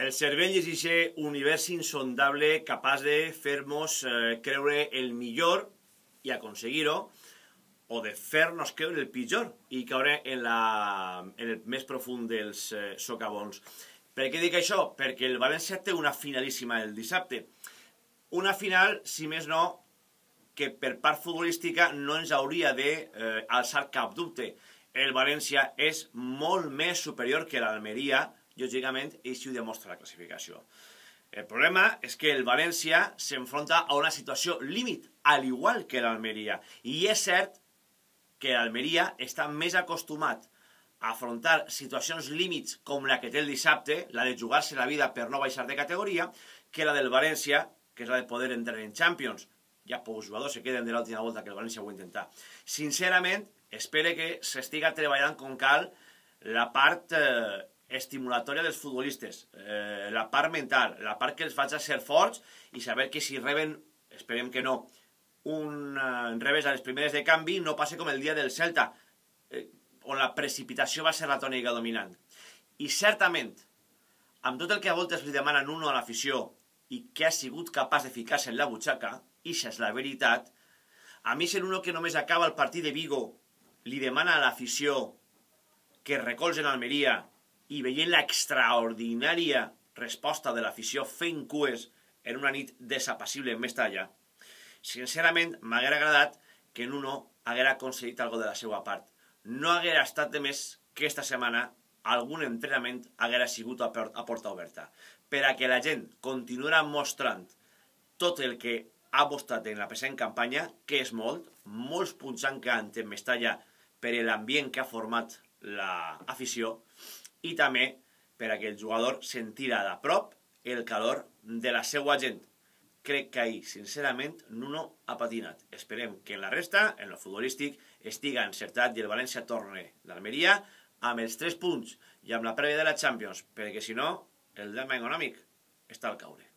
El cervell és aquest univers insondable capaç de fer-nos creure el millor i aconseguir-ho, o de fer-nos creure el pitjor i caure en el més profund dels socavons. Per què dic això? Perquè el València té una finalíssima el dissabte. Una final, si més no, que per part futbolística no ens hauria d'alçar cap dubte. El València és molt més superior que l'Almeria, lògicament, i així ho demostra la classificació. El problema és que el València s'enfronta a una situació límit, al igual que l'Almeria. I és cert que l'Almeria està més acostumat a afrontar situacions límits com la que té el dissabte, la de jugar-se la vida per no baixar de categoria, que la del València, que és la de poder entrar en Champions. Ja pocs jugadors se queden de l'última volta que el València ho va intentar. Sincerament, espero que s'estiga treballant com cal la part estimulatòria dels futbolistes, la part mental, la part que els faci ser forts i saber que si reben, esperem que no, un revés a les primeres de canvi no passa com el dia del Celta, on la precipitació va ser la tònica dominant. I certament, amb tot el que a voltes li demanen uno a l'afició i que ha sigut capaç de ficar-se en la butxaca, i això és la veritat, a mi ser uno que només acaba el partit de Vigo li demana a l'afició que recolzen Almeria i veient l'extraordinària resposta de l'afició fent cues en una nit desapassible en Mestalla, sincerament m'haguera agradat que Nuno haguera aconseguit alguna de la seva part. No haguera estat de més que esta setmana algun entrenament haguera sigut a porta oberta, per a que la gent continuarà mostrant tot el que ha mostrat en la present campanya, que és molts punts han quedat en Mestalla per l'ambient que ha format l'afició, i també per a que el jugador sentirà de prop el calor de la seva gent. Crec que ahir, sincerament, Nuno ha patinat. Esperem que en la resta, en el futbolístic, estiga encertat i el València torne d'Almeria amb els 3 punts i amb la prèvia de la Champions, perquè si no, el drama econòmic està al caure.